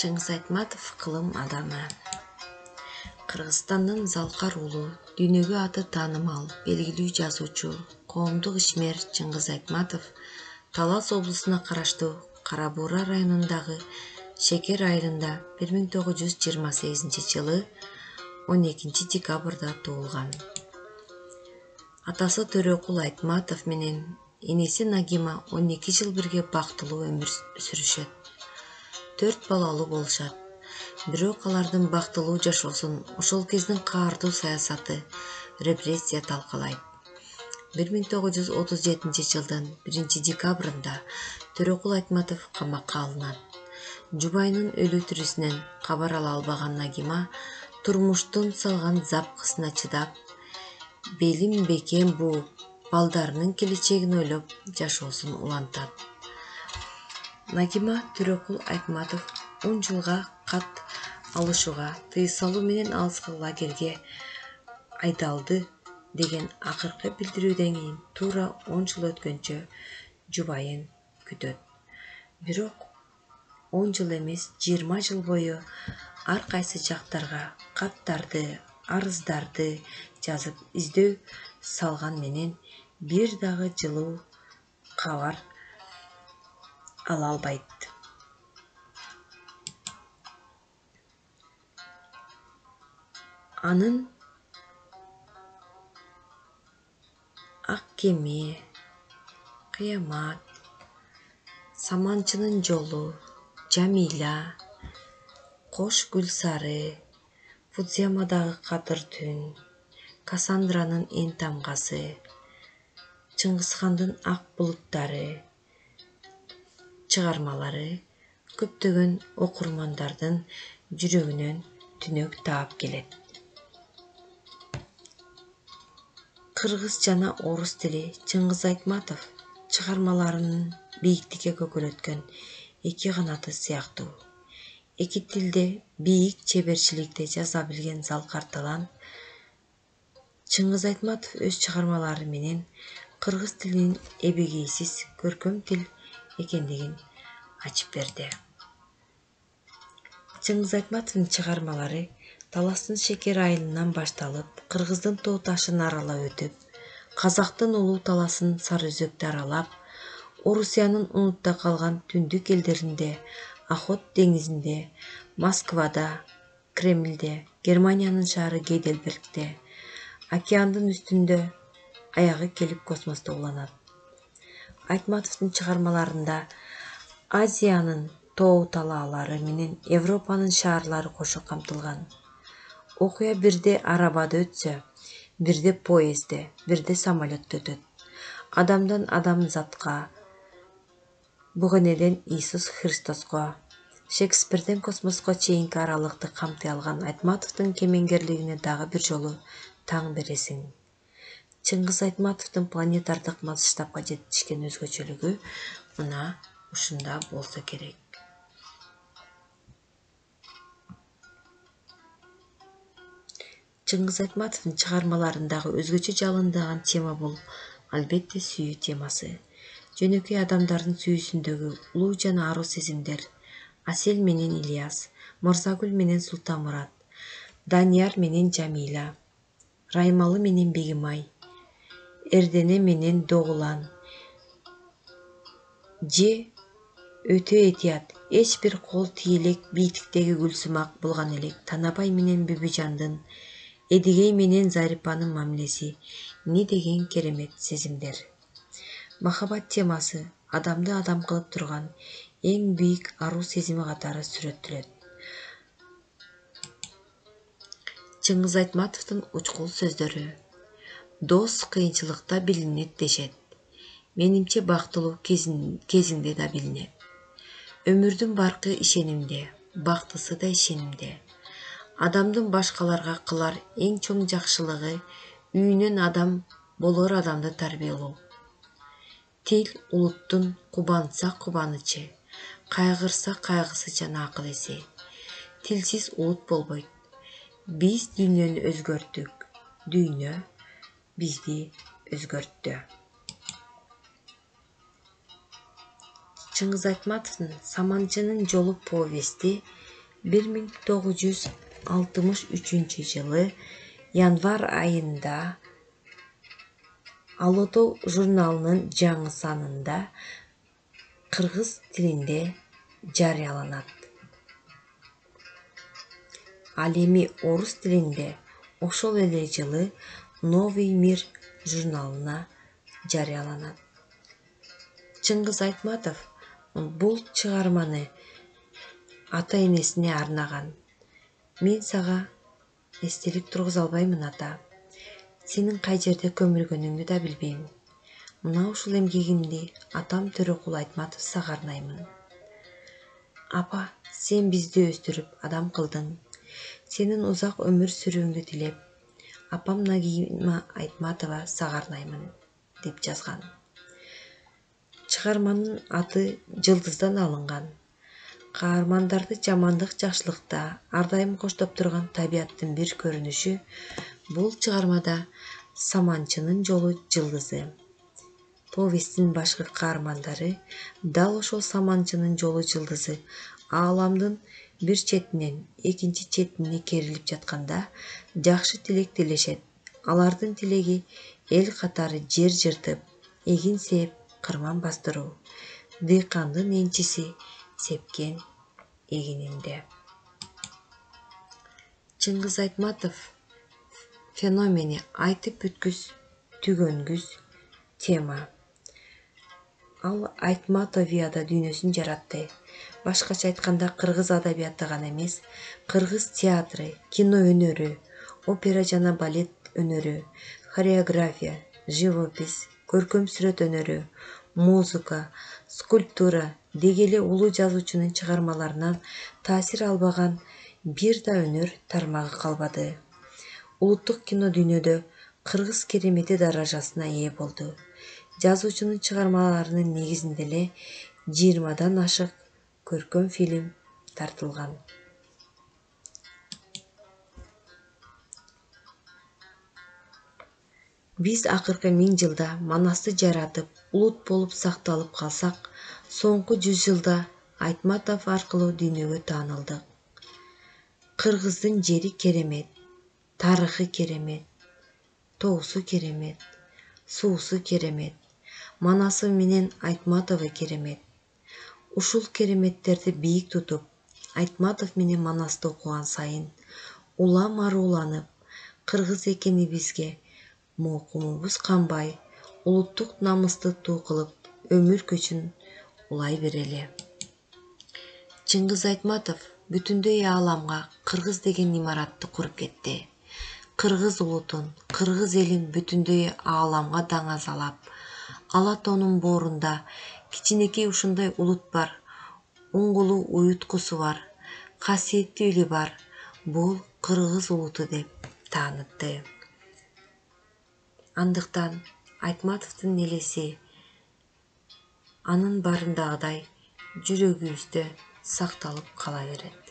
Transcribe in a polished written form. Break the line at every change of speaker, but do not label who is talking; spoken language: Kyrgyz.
Чыңгыз Айтматов кылым адамы. Кыргызстандын Залкар уулу, дүйнөгө аты таанымал, белгилүү жазуучу, коомдук ишмер Чыңгыз Айтматов Талас облусуна караштуу Кара Буура районундагы Шекер айылында 1928-жылы 12-декабрда туулган. Атасы Төрөкул Айтматов менен энеси Нагима 12 жыл бирге бактылуу өмүр сүрүшөт. 4 балалуу болушат. Бирок алардын бактылуу жашоосун ошол кездин каардуу саясаты, репрессия талкалайт. 1937-жылдын 1-декабрында Төрөкул Айтматов камакка алынат. Жубайынын өлүү тирүүсүнөн кабар ала албаган Нагима турмуштун салган запкысына чыдап, белим бекем бууп, балдарынын келечегин ойлоп жашоосун улантат. Нагима Төрөкул Айтматов 10 жылга кат алышууга, тыюу салуу менен алыскы лагерге айдалды деген акыркы билдирүүдөн кийин туура 10 жыл өткөнчө жубайын күтөт. Бирок 10 жыл эмес, 20 жыл бою ар кайсы жактарга каттарды, арыздарды жазып издөө салган менен бир дагы жылуу кабар ала албайт. Анын Ак кеме, Кыямат, Саманчынын жолу, Жамиля, Кош гүл сары, Фудзиямадагы катыр түн, Кассандранын эң тамгасы, Чыңгызхандын ак булуттары чыгармалары көптөгөн окурмандардын жүрөгүнөн түнөк таап келет. Кыргыз жана орус тили Чыңгыз Айтматов чыгармаларынын бийиктикке көкөлөткөн эки канаты сыяктуу. Эки тилде бийик чеберчиликте жаза билген залкар талант Чыңгыз Айтматов өз чыгармалары менен кыргыз тилинин эбегейсиз көркөм тил экендигин ачып берди. Чыңгыз Айтматовдун чыгармалары Таластын Шекер айылынан башталып, Кыргыздын тоо ташын аралап өтүп, Казактын улуу Таласын Сары Өзөктү аралап, Орусиянын унутта калган түндүк элдеринде, Охот деңизинде, Москвада, Кремльде, Германиянын шаары Гейдельбергде, океандын үстүндө аягы келип космосто уланат. Айтматовдун чыгармаларында Азиянын тоо талаалары менен Европанын шаарлары кошо камтылган. Окуя бирде арабада өтсө, бирде поездде, бирде самолетто өтөт. Адамдан адамзатка, Бугенеден Иисус Христоско, Шекспирден космоско чейинки аралыкты камтый алган Айтматовдун кемеңгерлигине дагы бир жолу таң бересиң. Чыңгыз Айтматовдун планетардык масштабка жетишкен өзгөчөлүгү мына ушунда болсо керек. Чыңгыз Айтматовдун чыгармаларындагы өзгөчө жалындаган тема бул албетте сүйүү темасы. Жөнөкөй адамдардын сүйүүсүндөгү улуу жана аруу сезимдер, Асель менен Ильяс, Мырзагүл менен Султанмурат, Данияр менен Жамиля, Раймалы менен Бегимай, Эрдене менен Догулан же өтө этият, эч бир кол тие элек бийиктиктеги Гүлсүмак болгон элек, Танабай менен Бүбүжандын, Эдигей менен Зарипанын мамилеси, эмне деген керемет сезимдер. Махабат темасы адамды адам кылып турган эң бийик аруу сезими катары сүрөттөлөт. Чыңгыз Айтматовдун учкул сөздөрү. Дос кыйынчылыкта билинет дешет. Менимче бактылуу кезиңде да билинет. Өмүрдүн баркы ишенимде, бактысы да ишенимде. Адамдын башкаларга кылар эң чоң жакшылыгы үйүнөн адам болор адамды тарбиялоо. Тил улуттун кубанса кубанычы, кайгырса кайгысы жана акыл эси. Тилсиз улут болбойт. Биз дүйнөнү өзгөрттүк, дүйнө бизди өзгөрттү. Чыңгыз Айтматовдун Саманчынын жолу повести 1963 январь айында Ало Тоо журналынын жаңы санында кыргыз тилинде жарыяланат. Ал эми орус тилинде ошол эле жылы Новый мир журналына жарыяланат. Чыңгыз Айтматов бул чыгарманы ата-энесине арнаган. Мен сага эстелик тургуза албаймын, ата. Сенин кай жерде көмүлгөнүңдү да билбейм. Мына ушул эмгегимди атам Төрөкул Айтматов сага арнаймын. Апа, сен бизди өстүрүп адам кылдың. Сенин узак өмүр сүрүүңдү тилеп, апам Нагима Айтматова сага арнаймын, деп жазган. Чыгарманын аты жылдыздан алынган. Каармандарды жамандык жакшылыкта ар дайым коштоп турган табияттын бир көрүнүшү бул чыгармада Саманчынын жолу жылдызы. Повесттин башкы каармандары дал ошол Саманчынын жолу жылдызы ааламдын бир четинен экинчи четине керилип жатканда жакшы тилек тилешет. Алардын тилеги эл катары жер жыртып, эгин сээп, кырман бастыруу. Дыйкандын энчиси сепкен эгининде. Чыңгыз Айтматов феномени айтып бүткүс, түгөнгүс тема. Ал Айтматовияда дүйнөсүн жаратты. Башкача айтканда, кыргыз адабияты гана эмес, кыргыз театры, кино өнөрү, опера жана балет өнөрү, хореография, живопись, көркөм сүрөт өнөрү, музыка, скульптура деги эле улуу жазуучунун чыгармаларынан таасир албаган бир да өнөр тармагы калбады. Улуттук кино дүйнөдө кыргыз керемети даражасына ээ болду. Жазуучунун чыгармаларынын негизинде эле 20дан ашык көркөм фильм тартылган. Биз акыркы 1000 жылда Манасты жаратып, улут болуп сакталып калсак, соңку 100 жылда Айтматов аркылуу дүйнөгө таанылдык. Кыргыздын жери керемет, тарыхы керемет, тоосу керемет, суусу керемет, Манасы менен Айтматову керемет. Ушул кереметтерди бийик тутуп, Айтматов менен Манасты окуган сайын улам аруланып, кыргыз экенибизге мокумубуз канбай, улуттук намысты туу кылып, өмүр көчүн улай берели. Чыңгыз Айтматов бүтүндөй ааламга кыргыз деген имаратты куруп кетти. Кыргыз улутун, кыргыз элин бүтүндөй ааламга даңазалап, Ала Тоонун боорунда кичинекей ушундай улут бар, уңгулу уюткусу бар, касиеттүү эли бар, бул кыргыз улуту деп таанытты. Андыктан Айтматовдун элеси анын барындагыдай жүрөгүбүздө сакталып кала берет.